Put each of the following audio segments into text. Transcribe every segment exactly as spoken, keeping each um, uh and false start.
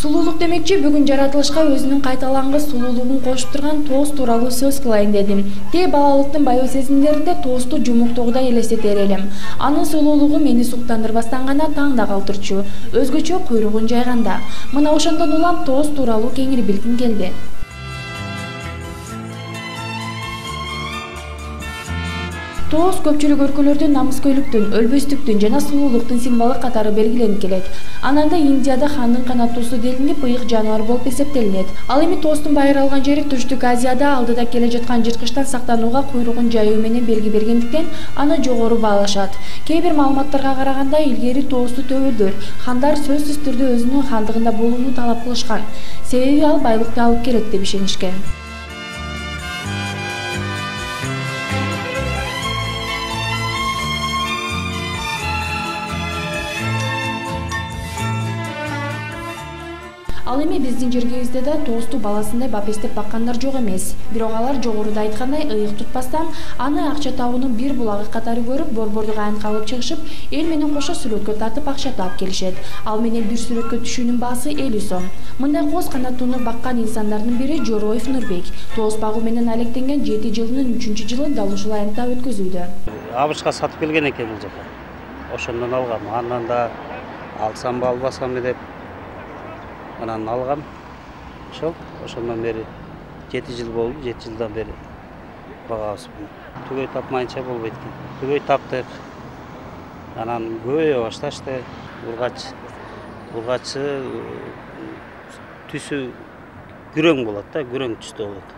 Сулуулук демекчи бүгүн жаратылышка өзүнүн кайталангыс сулуулугун кошуп турган тоос тууралуу сөз кылайын дедим. Те балалыктын баяу сезимдеринде тоосту жумуктоогудай элестетер элем. Анын сулуулугу мени суктандырбастан гана таң да калтырчу, өзгөчө куйругун жайганда. Мына ошондон улам тоос тууралуу кеңири билгим келди. Тоос көпчүлүк өлкөлөрдө намыскөйлүктүн, өлбөстүктүн жана сулуулуктун символу катары белгиленип келет. Ананда Индияда хандын канаттуусу делинип ыйык жаныбар болуп эсептелинет. Ал эми тоостун байыралган жери Түштүк Азияда алдыда келе жаткан жырткычтан сактанууга куйругун жайуу менен белги бергендиктен аны жогору баалашат. Кээ бир маалыматтарга караганда илгери тоосту төбөлдөр, хандар сөзсүз түрдө өзүнүн хандыгында болууну талап кылышкан. Себеби ал байлыкты алып келет деп ишенишкен. Ал эми биздин жергебизде да тоосту баласындай бапестеп баккандар жок эмес. Бирок алар жогоруда айткандай ыйык тутпастан аны акча табуунун бир булагы катары көрүп, борбордук айнтка алып чыгышып, эл менен кошо сүрөткө тартып акча таап келишет. Ал менен бир сүрөткө түшүүнүн баасы элүү сом. Мындай коз канаттууну баккан инсандардын бири Жороев Нурбек. Тоос багуу менен алектенген жети жылынын үчүнчү жылын дал ушул айнтта өткөзүүдө. Абышка сатып келген экен бул жака. Ошондон алгам. Андан да алсамбы албасамбы деп анан алгам. Ошол ошондон бери жети жыл болду. жети жылдан бери багабызбын. Түгөй тапмайынча болбойт экен. Түгөй таптык. Анан көбөйө башташты. Ургач ургачы түсү күрөң болот да, күрөң түстө болот.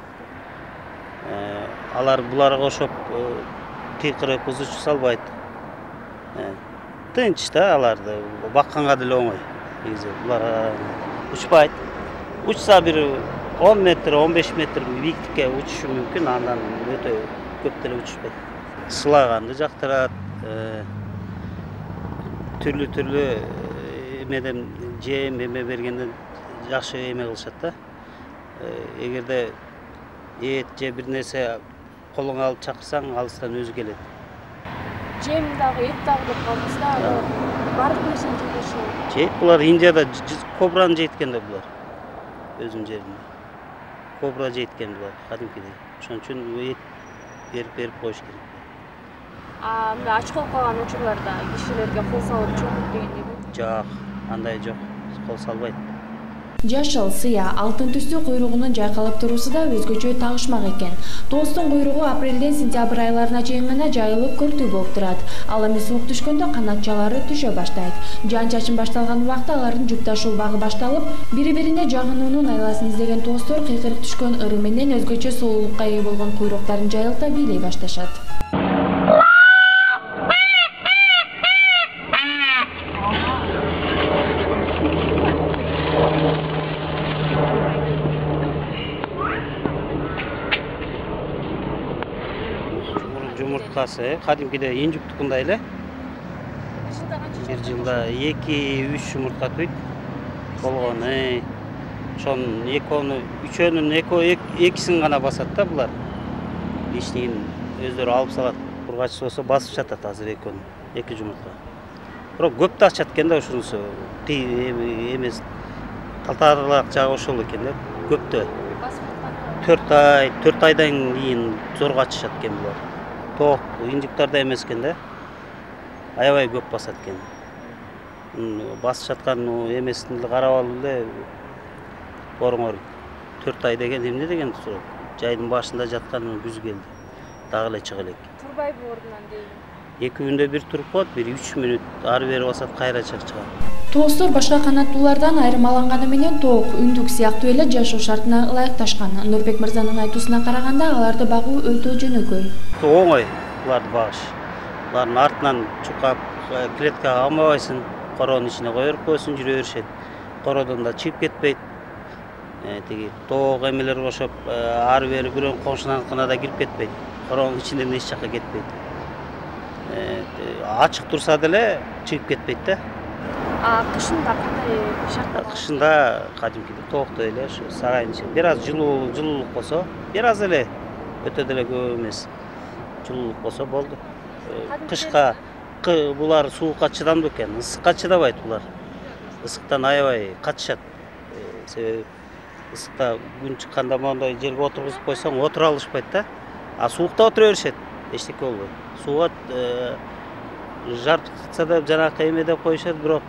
Алар буларга ошоп тыйкырып ызычу салбайт. Тынч да аларды бакканга деле оңой. Негизи булар учпайт. Учса бир он метр, он беш метр бийиктикке учушу мүмкүн, андан өтө көп деле учушпайт. Сылаганды жактырат, түрлүү-түрлүү эмеден жем эме бергенден жакшы эме кылышат да. Эгерде эт же бир нерсе колуңа алып чакырсаң, алыстан өзү келет. Жем дагы, эт дагы деп калдыңыз да, бардык нерсени жейт. Жейт булар Индияда кобраны жейт экен да булар. Өзүнүн жеринде. Кобра жейт экен булар, кадимкидей. Ошон үчүн эт берип берип коюш керек. А мындай ач болуп калган учурларда кишилерге кол салып чоңдук дегендейби? Жок, андай жок. Кол салбайт. Жашыл, сыя, алтын түстүү куйругунун жайкалып туруусу да өзгөчө тагышмак экен. Тоостун куйругу апрелден сентябрь айларына чейин гана жайылып көртүү болуп турат. Ал эми суук түшкөндө канатчалары түшө баштайт. Жаан-чачын башталган убакта алардын жүк ташуу багы башталып, бири-бирине жагынуунун айласын издеген тоостор кыйкырык түшкөн ыры менен өзгөчө сулуулукка ээ болгон куйруктарын жайылта бийлей башташат. Жумурткасы кадимкидей инжуктукундай эле. Бир жылда эки үч жумуртка түйт. Болгон, ошонун экөөнү, үчөөнүн экисин гана басат да булар. Лишнигин өздөрү алып салат. Ургач болсо басып жатат азыр экөөнү, эки жумуртка. Бирок көп да ачат экен да ошонусу. Эмес талтаарлак жагы ошол экен да, көптө. төрт ай, төрт айдан кийин зорго ачышат экен булар. Тоок инжуктарда эмес экен да. Аябай көп басат экен. Басып жаткан эмесин карап алып эле боруңор төрт ай деген эмне деген суроо. Жайдын башында жаткан күз келди. Дагы эле чыга элек. Турбайбы ордунан дейм. эки күндө бир туруп коет, бир үч мүнөт ары бери басат, кайра чыгып чыгат. Тоостор башка канаттуулардан айырмаланганы менен тоок, үндүк сыяктуу эле жашоо шартына ылайыкташкан. Нурбек мырзанын айтуусуна караганда, аларды багуу өтө жөнөкөй. Оңой буларды багыш. Булардын артынан чукап, клеткага алмабайсың, короонун ичине кое берип коесуң, жүрө беришет. Короодон да чыгып кетпейт. Тиги тоок эмелер кошоп, ары бери бирөөнүн коңшунаныкына да кирип кетпейт. Короонун ичинен эч жакка кетпейт. Ачык турса деле чыгып кетпейт да. А кышында кандай шарттар? Кышында кадимкидей тооктой эле, ушу сарайдын ичинде. Бир аз жылуу, жылуулук болсо, бир аз эле, өтө деле көп эмес. Жылуулук болсо болду. Кышка булар суукка чыдамдуу экен, ысыкка чыдабайт булар. Ысыктан аябай качышат. себеби ысыкта күн чыкканда моундай жерге отургузуп койсоң отура алышпайт да. А суукта отура беришет, эчтеке болбойт. Сууга жарытса да жанакы эме деп коюшат, бирок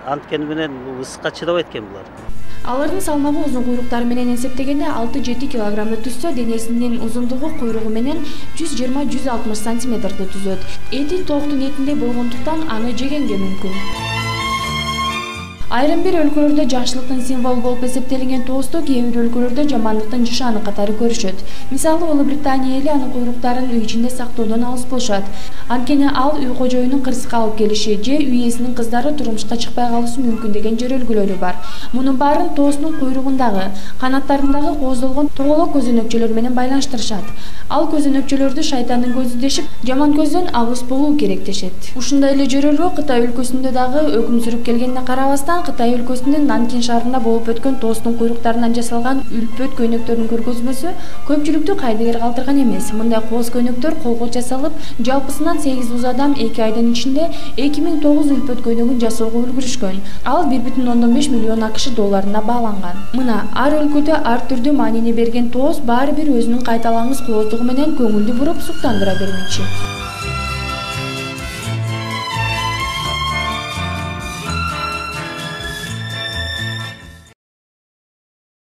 анткени менен ысыкка чыдабайт экен булар. Алардын салмагы узун куйруктары менен эсептегенде алты жети килограммды түзсө, денесинин узундугу куйругу менен жүз жыйырма — жүз алтымыш сантиметрди түзөт. Эти тооктун этиндей болгондуктан аны жегенге мүмкүн. Айрым бир өлкөлөрдө жакшылыктын символу болуп эсептелинген тоосту кээ бир өлкөлөрдө жамандыктын нышаны катары көрүшөт. Мисалы, Улуу Британия эли анын куйруктарын үй ичинде сактоодон алыс болушат. Анткени ал үй кожоюнун кырсыкка алып келиши же үй ээсинин кыздары турмушка чыкпай калышы мүмкүн деген жөрөлгүлөрү бар. Мунун баарын тоостун куйругундагы, канаттарындагы кооздолгон тоголок көзөнөкчөлөр менен байланыштырышат. Ал көзөнөкчөлөрдү шайтандын көзү дешип, жаман көздөн алыс болуу керек дешет. Ушундай эле жөрөлгө Кытай өлкөсүндө дагы өкүм сүрүп келгенине карабастан, Кытай өлкөсүнүн Нанкин шаарында болуп өткөн тоостун куйруктарынан жасалган үлпөт көйнөктөрдүн көргөзмөсү көпчүлүктү кайдыгер калтырган эмес. Мындай кооз көйнөктөр колго жасалып, жалпысынан сегиз уз адам эки айдын ичинде эки миң тогуз үлпөт көйнөгүн жасоого үлгүрүшкөн. Ал бир бүтүн ондон беш миллион акш долларына бааланган. Мына ар өлкөдө ар түрдүү маанини берген тоос баары бир өзүнүн кайталангыс кооздугу менен көңүлдү буруп суктандыра бермекчи.